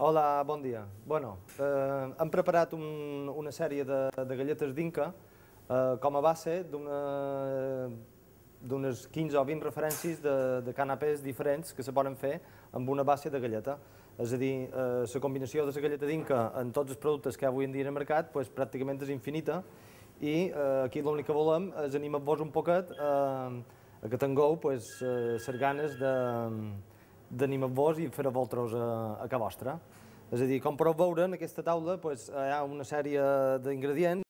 Hola, bon dia. Hem preparat una sèrie de galletes d'Inca com a base d'unes 15 o 20 referències de canapés diferents que se poden fer amb una base de galleta. És a dir, la combinació de la galleta d'Inca en tots els productes que avui en dia en el mercat pràcticament és infinita i aquí l'únic que volem és animar-vos un poquet a que tingueu les ganes d'animar-vos i fer-ho vosaltres a casa vostra. És a dir, com podeu veure, en aquesta taula hi ha una sèrie d'ingredients